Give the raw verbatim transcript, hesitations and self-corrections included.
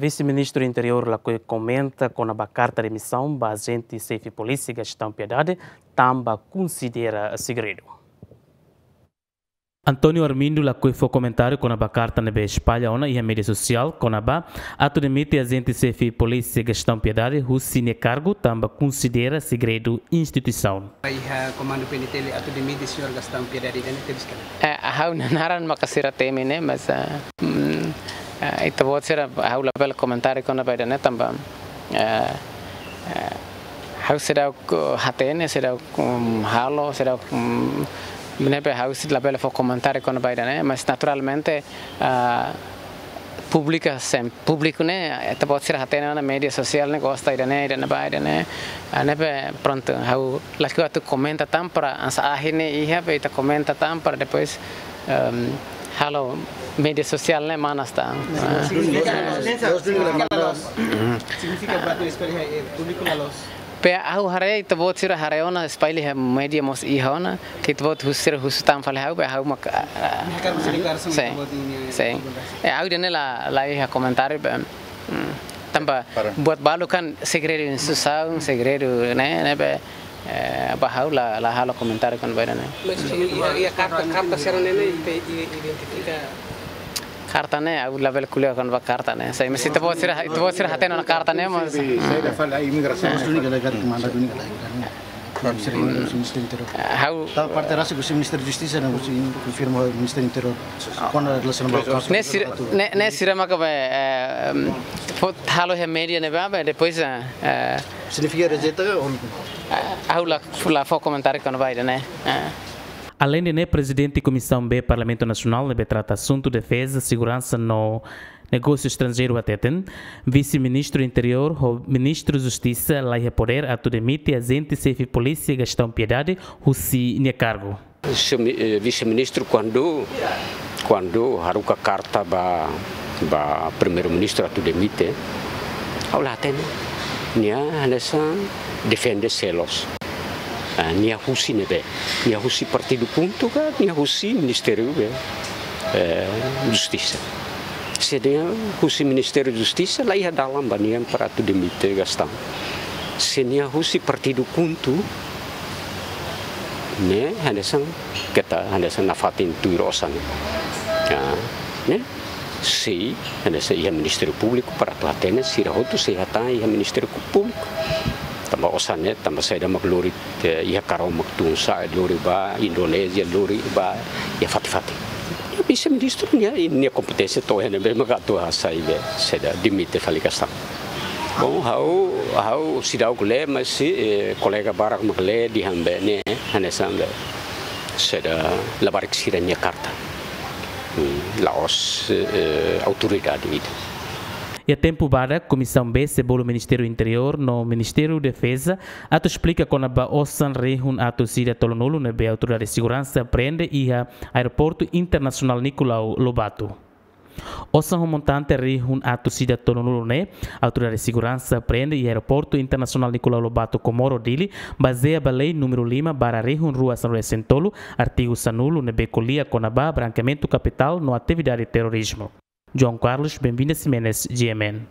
Vise-Ministru Interiór lakohi komenta kona-ba karta demisaun ba ajente xefe polísia Gastão Piedade, tanba konsidera segredu. António Armindo lakohi fó komentáriu kona-ba karta ne'ebé espalla ona iha média sosiál kona-ba atu demite ajente xefe polísia Gastão Piedade husi nia kargu tanba konsidera segredu instituisaun. Iha Komandu P N T L atu demite señór Gastão Piedade ida-ne'e tebes ka lae? Eh, ha'u-nia naran maka sira temi ne'e, mas, ah, mm, ah, ita-boot sira ha'u labele komentáriu kona-ba ida-ne'e tanba, eh, eh, ha'u seidauk hatene, seidauk, mm, halo, seidauk, mm, ne'ebé ha'u sei labele fó komentáriu kona-ba ida-ne'e, mas naturalmente, ah, públiku sem, públiku ne'e, ita-boot sira hatene ona média sosiál ne'e gosta ida-ne'e, ida-ne'ebá, ida-ne'e. Ah, ne'ebé prontu, ha'u lakohi atu komenta tan para hanesan ahi ne'e iha, be ita komenta tan para depois, ehm, halo média sosiál ne'e manas tan. Ah. Signifika buat ne'e espalla iha, eh, públiku la loos. Be ha'u haree ita-boot sira haree ona espalla iha média mós iha ona, ke ita-boot husu sira husu tan fali ha'u, be ha'u mak, ah, ah, Nia hakarak fó deklarasaun sin, ita-boot nia sin. Komunidade. Eh, ha'u ida-ne'e la, la iha komentáriu, be, mm, tanba Para. buat balu kan segredu instituisaun, segredu ne'e, ne'ebé, eh, ba ha'u la, la halo komentáriu kona-ba ida-ne'e. Mas iha, iha karta, karta sira-ne'e ne'e ita i-, identifika? Karta ne'e, ha'u labele ko'alia kona-ba karta ne'e. Sei, mas ita-boot sira, ita-boot sira hatene ona karta ne'e, mas, Sei, sei, da fala imigrasaun. Mas duni ka lae, karta manda duni ka lae. Ha'u Ministériu Interiór. Tanba parte rasik husi Ministériu Justisa ne'e, husi konfirma Ministériu Interiór. Kona-ba relasaun ba kazu. Ne'e sira, ne'e, ne'e sira maka be, eh, fó halo iha média ne'ebá, be, depois, eh, eh, Signifika rejeita ka? Ha'u la, la fó komentáriu kona-ba ida-ne'e. Eh. Aleinde ne'e, Prezidente Komisaun B Parlamentu Nasionál ne'ebé trata asuntu defeza, seguransa no negósiu estranjeiru hateten, Vise-Ministru Interiór ho Ministru Justisa laiha podér atu demite ajente xefe polísia Gastão Piedade husi nia kargu. Señór mi-, eh, Vise-Ministru, kuandu, kuandu haruka karta ba, ba Primeiru-Ministru atu demite, ha'u la hatene. Nia hanesan defende seluk. Ah, nia husi ne'ebé? Nia husi partidu KHUNTO ka nia husi Ministériu be, eh, Justisa? Se nia husi Ministériu Justisa, laiha dalan ba nia para atu demite Gastão. Se nia husi partidu KHUNTO, ne'e hanesan keta, hanesan nafatin tuir osan. Ya, ne'e? Sei, hanesan iha Ministériu Públiku para atu hatene, sira hotu sei hatán iha Ministériu Públiku. Tanba osan ne'e, tanba saida mak lori, eh, iha Karau mak tun sa'e, lori ba Indonézia, lori ba iha fatin-fatin. Vise-Ministru nia, nia kompeténsia to'o iha ne'ebé mak atu hasai be, saida, demite fali Gastão. Bom, ha'u, ha'u seidauk lee, mas se, eh, kolega barak mak lee dehan be ne'e, hanesan be, saida, labarik sira-nia karta. Hmm, la'ós, eh, autoridade ida. Iha tempu badak, Komisaun B sei bolu Ministériu Interiór no Ministériu Defeza atu esplika kona-ba osan rihun atus ida tolunulu ne'ebé Autoridade Seguransa prende iha Aeroportu Internasionál Nicolau Lobato. Osan ho montante rihun atus ida tolunulu ne'e, Autoridade Seguransa prende iha Aeroportu Internasionál Nicolau Lobato Comoro Dili, bazeia ba lei númeru lima barra rihun rua sanulu-resin-tolu, artigu sanulu, ne'ebé ko'alia kona-ba brankeamentu kapitál no atividade terrorizmu. João Carlos Benvinda Ximenes, G M N.